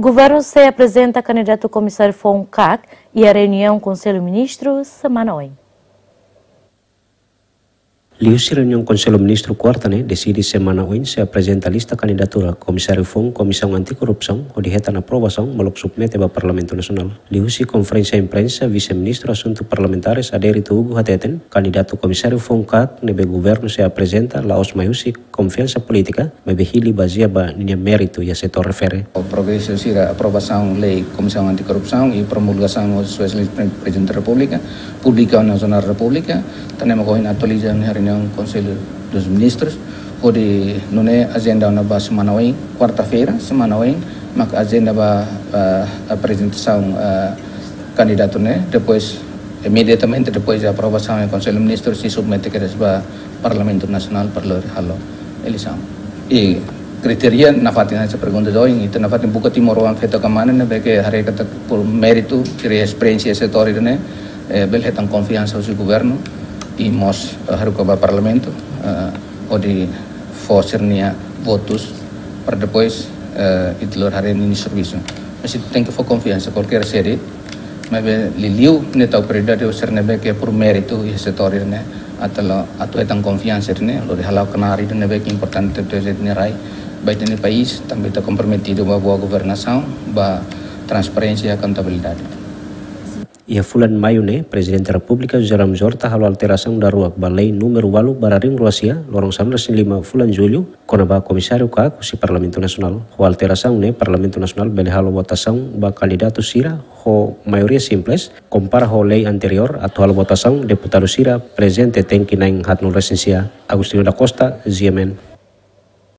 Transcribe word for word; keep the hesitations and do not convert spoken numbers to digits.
Governu sei aprezenta kandidatu komisáriu foun kak iha reuniaun Konsellu Ministru semana oin. Liuhusi reuniaun Konsellu Ministru kuarta ne'e, deside semana oin sei aprezenta lista kandidatura komisáriu foun Komisaun Anti-Korrupsaun hodi hetan aprovasaun molok submete ba Parlamentu Nasionál. Liuhusi konferénsia imprensa, Vise-Ministru Asuntu Parlamentares, Adérito Hugo, hateten kandidatu komisáriu foun kak ne'ebé governu sei aprezenta la'ós mai husi konfiansa polítika, maibé hili bazeia ba ninia méritu iha setór refere. Progresu sira aprovasaun lei Komisaun Anti-Korrupsaun i promulgasaun ho Sua Exelénsia Pre-, Prezidente da Repúblika, publika iha Jornál da Repúblika, tanba mak ohin atualiza iha reuniaun Konsellu dos Ministrus, hodi nune'e ajenda ona ba semana oin, kuarta-feira, semana oin, mak ajenda ba, ah, aprezentasaun, ah, kandidatu ne'e, depois, imediatamente depois de aprovasaun iha Konsellu Ministru, sei submete kedas ba Parlamentu Nasionál para lori halo eleisaun. I kritéria nafatin hanesan pergunta ohin, ita nafatin buka timoroan feto ka mane ne'ebé ke haree katak por méritu, sira esperiénsia setór ne'e, eh, bele hetan konfiansa husi governu, i mós, eh, haruka ba Parlamentu, eh, hodi fó sira-nia votus, para depois, eh, ita lori haree ninia servisu. Mas ita tenke fó konfiansa, kualkér sede, maibé liuliu ne'e tau prioridade ba sira ne'ebé ke por méritu iha setór ne'e, atu la, atu hetan konfiansa ne'e, lori hala'o knaar ne'ebé ke importante ba ita-nia rai, ba ita-nia país, tanba ita komprometidu ba boa governasaun, ba transparénsia, kontabilidade. Iha fulan Maiu ne'e, Prezidente Repúblika José Ramos Horta halo alterasaun daruak ba lei númeru ualu barra rihun rua sia, loron sanulu-resin-lima fulan Jullu, kona-ba komisáriu kak husi Parlamentu Nasionál. Ho alterasaun ne'e, Parlamentu Nasionál bele halo votasaun ba kandidatu sira ho maioria simples, kompara ho lei anteriór atu halo votasaun deputadu sira prezente tenke na'in haatnulu-resin-sia. Agostinho da Costa, G M N.